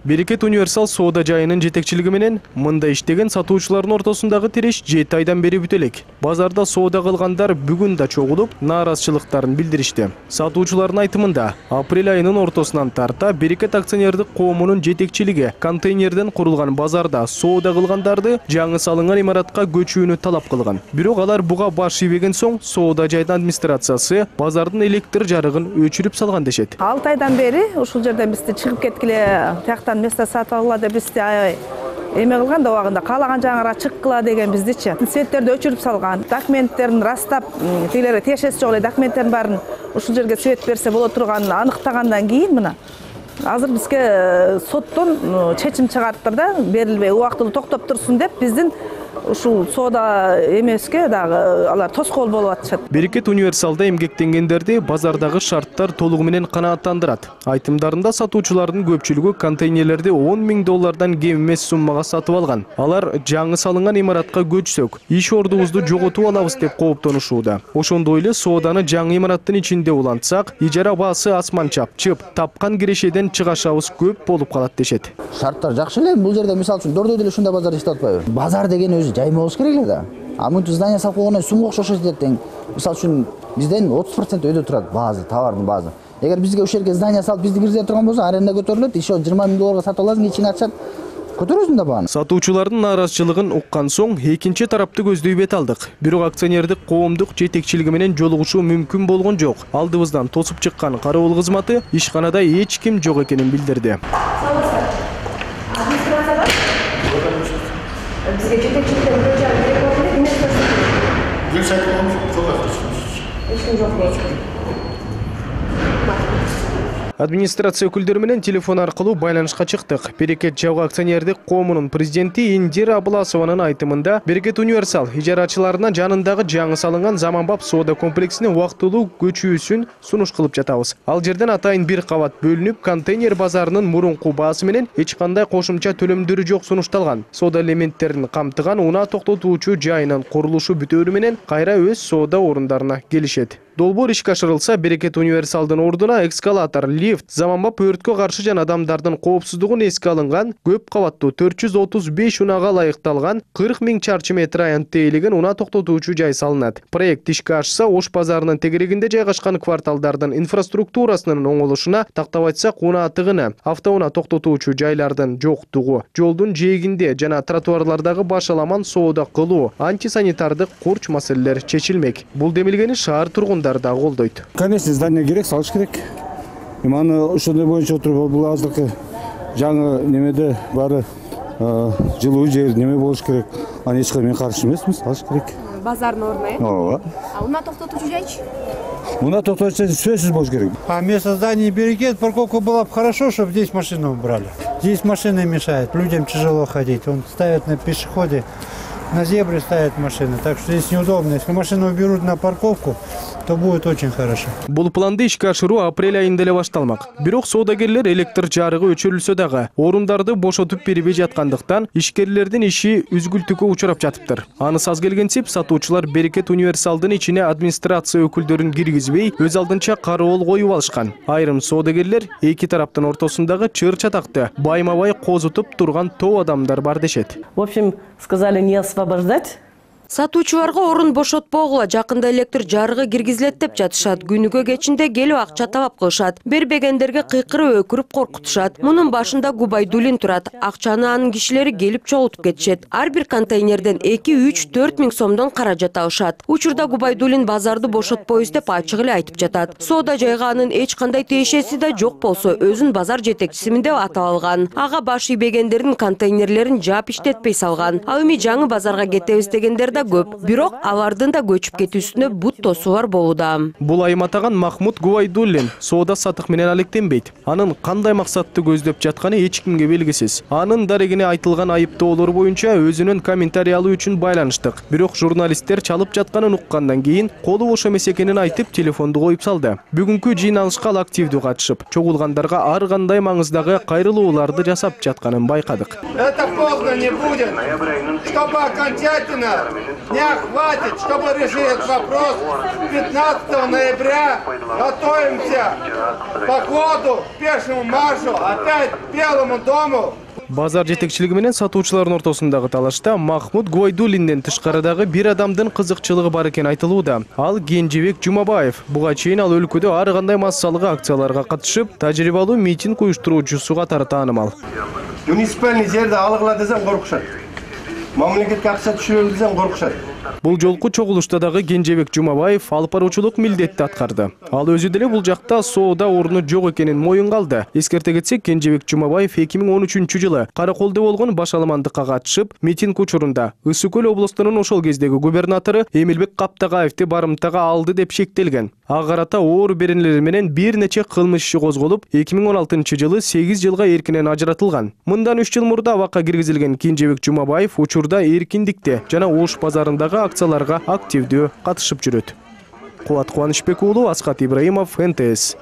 Берекет универсал соода жайынын жетекчилиги менен мында иштеген сатуучулардын ортосундагы тиреш 7 айдан бери бүтө элек. Базарда соода кылгандар бүгүн да чогулуп, нааразычылыктарын билдиришти. Сатуучулардын айтымында, апрель айынын ортосунан тарта Берекет акционердик коомунун жетекчилиги контейнерден курулган базарда соода кылгандарды жаңы салынган имаратка көчүүнү талап кылган. Бирок алар буга баш ийбеген соң соода жайдын администрациясы базардын электр жарыгын өчүрүп салган дешет. 6 айдан бери ушул жерден бизди чыгып кеткиле, тияктан место сатып алгыла деп бизди эме кылган да убагында каалаган жагыңарга чыккыла деген биздичи. Светтерди өчүрүп салган, документтерин растап, тилери тиешеси жок эле документтерин баарын ушул жерге свет берсе боло турганын аныктагандан кийин мына азыр бизге соттон чечим чыгарыптыр да, берилбей убактылуу токтоп турсун деп биздин ушул соода эмеске дагы алар тоскоол болуп атышат. Берекет универсалда эмгектенгендерди базардагы шарттар толугу менен канааттандырат. Айтымдарында сатуучулардын көпчүлүгү контейнерлерди $10.000 кем эмес суммага сатып алган. Алар жаңы салынган имаратка көчсөк, иш ордубузду жоготуп алабыз деп кооптонушууда. Ошондой эле сооданы жаңы имараттын ичинде улантсак, ижара баасы асман чапчып, тапкан кирешеден чыгашабыз көп болуп калат дешет. Шарттар жакшы эле, бул жерде мисалы үчүн дөрдөө деле ушундай базар иштеп атпайбы? Базар деген өзү жайма болуш керек эле да. Мынтип здание салып койгондон сумга окшош тең. Мисалы үчүн бизден 30% өйдө турат база, товардын базы. Эгер бизге ушул жерге здание салып бизди киргизе турган болсо, аренда көтөрүлөт, иши $20.000 сатып аласың, ичине ачат. Көтөрөсүң да бааны. Сатуучулардын нааразычылыгын уккан соң экинчи тарапты көздөй бет алдык. Бирок акционердик коомдук жетекчилиги менен жолугушуу мүмкүн болгон жок. Алдыбыздан тосуп чыккан кароол кызматы ишканада эч ким жок экенин билдирди. Бизге жетекчиликтен бирөө жагы керек болду, эмес көрсөтүлдү. Бир сайт болмуш, эч ким жок болчу. Администрация өкүлдөрү менен телефон аркылуу байланышка чыктык. Берекет жабык акционердик коомунун президенти Индира Абласованын айтымында, Берекет универсал ижарачыларына жанындагы жаңы салынган заманбап соода комплексине убактылуу көчүүсүн сунуш кылып жатабыз. Ал жерден атайын бир кабат бөлүнүп, контейнер базарынын мурунку баасы менен эч кандай кошумча төлөмдөрү жок сунушталган. Соода элементтерин камтыган унаа токтотуучу жайынын курулушу бүтөөрү менен кайра өз соода орундарына келишет. Долбоор ишке ашырылса, Берекет универсалдын ордуна эскалатор, лифт, заманбап өрткө каршы жана адамдардын коопсуздугун эске алынган көп кабаттуу 435 унаага ылайыкталган 40.000 чарчы метр аянт тейлеген унаа токтотуучу жай салынат. Проект ишке ашса, Ош базарынын тегерегинде жайгашкан кварталдардын инфраструктурасынын оңолушуна, тактап айтсак, унаа тыгыны, автоунаа токтотуучу жайлардын жоктугу, жолдун жээгинде жана тротуарлардагы башаламан соода кылуу, антисанитардык курч маселелер чечилмек. Бул демилгени шаар тургундары да колдойт. Конечно, здание керек, салыш керек. Маны ошондой боюнча отуруп, бул азыркы жаңы немеде баары жылуу жер неме болуш керек. Аны эч кандай мен каршы эмесмин, салыш керек. Базардын ордуна, э? Ооба. Унаа токтотуучу жайчы? Унаа токтотуучу жай сөзсүз болуш керек. А место здания Берекет, парковка была бы хорошо, чтобы здесь машину убрали. Здесь машины мешают, людям тяжело ходить. Он ставит на пешеходе, на зебре ставят машины, так что здесь неудобно. Если машину уберут на парковку, то будет очень хорошо. Бул планды ишке ашыруу апрель айында эле башталмак. Бирок соодагерлер электр жарыгы өчүрүлсө дагы орундарды бошотуп бербей жаткандыктан ишкерлердин иши үзгүлтүккө учурап жатыптыр. Анысы аз келгенсип, сатуучулар Берекет универсалдын ичине администрация өкүлдөрүн киргизбей, өз алдынча кароол коюп алышкан. Айрым соодагерлер эки тараптын ортосундагы чыр-чатакты байма-бай козутуп турган топ адамдар бар дешет. В общем, сказали не освобождать. Сатуучуларга орун бошотпогула, жакында электр жарыгы киргизилет деп жатышат. Күнүгө кечинде келип акча талап кылышат. Бербегендерге кыйкырып өкүрүп коркутушат. Мунун башында Губайдулин турат. Акчаны анын кишилери келип чогултуп кетишет. Ар бир контейнерден 2-3-4 миң сомдон каражат алышат. Учурда Губайдулин базарды бошотпойбуз деп ачык эле айтып жатат. Соода жайга анын эч кандай тиешеси да жок болсо, өзүн базар жетекчисимин деп атап алган. Ага баш ийбегендердин контейнерлерин жаап иштетпей салган. Ал эми жаңы базарга кетебиз дегендер көп. Бирок алардын да көчүп кетүүсүнө бут тосуулар болууда. Бул айым атаган Махмуд Губайдуллин соода сатык менен алектенбейт. Анын кандай максатты көздөп жатканы эч кимге белгисиз. Анын дарегине айтылган айыптоолор боюнча өзүнүн комментарий алуу үчүн байланыштык. Бирок журналисттер чалып жатканын уккандан кийин колу бош эмес экенин айтып телефонду коюп салды. Бүгүнкү жыйналышка ал активдүү катышып, чогулгандарга ар кандай маңыздагы кайрылууларды жасап жатканын байкадык. Это поздно не будет, чтобы окончательно дня хватит, чтобы решить этот вопрос. 15 ноября готовимся к походу, к пешему маршу, опять к Белому дому. Базар жетекчилиги менен сатуучулардын ортосундагы талашта Махмуд Губайдуллинден тышкарыдагы бир адамдын кызыкчылыгы бар экени айтылууда. Ал Кенжебек Жумабаев. Буга чейин ал өлкөдө ар кандай массалык акцияларга катышып, тажрыйбалуу митинг уюштуруучусу катары таанымал. Муниципальный жерди алгыла десең коркушат. Мамлекетке акча түшүрөлү десең коркушат. Бул жолку чогулушта дагы Кенжебек Жумабаев алып баруучулук милдетти аткарды. Ал өзү деле бул жакта соода орну жок экенин моюнга алды. Эскерте кетсек, Кенжебек Жумабаев 2013-жылы Караколдо болгон баш аламандыкка катышып, митинг учурунда Ысык Көл облустунун ошол кездеги губернатору Эмилбек Каптагаевди барымтага алды деп шектелген. Ага карата оор беренелер менен бир нече кылмыш иши козголуп, 2016-жылы 8 жылга эркинен ажыратылган. Мындан 3 жыл мурда абакка киргизилген Кенжебек Жумабаев учурда эркиндикте жана Ош базарындагы акцияларга активдүү катышып жүрөт. Кубат Кубанычбек уулу, Асхат Ибраимов, НТС.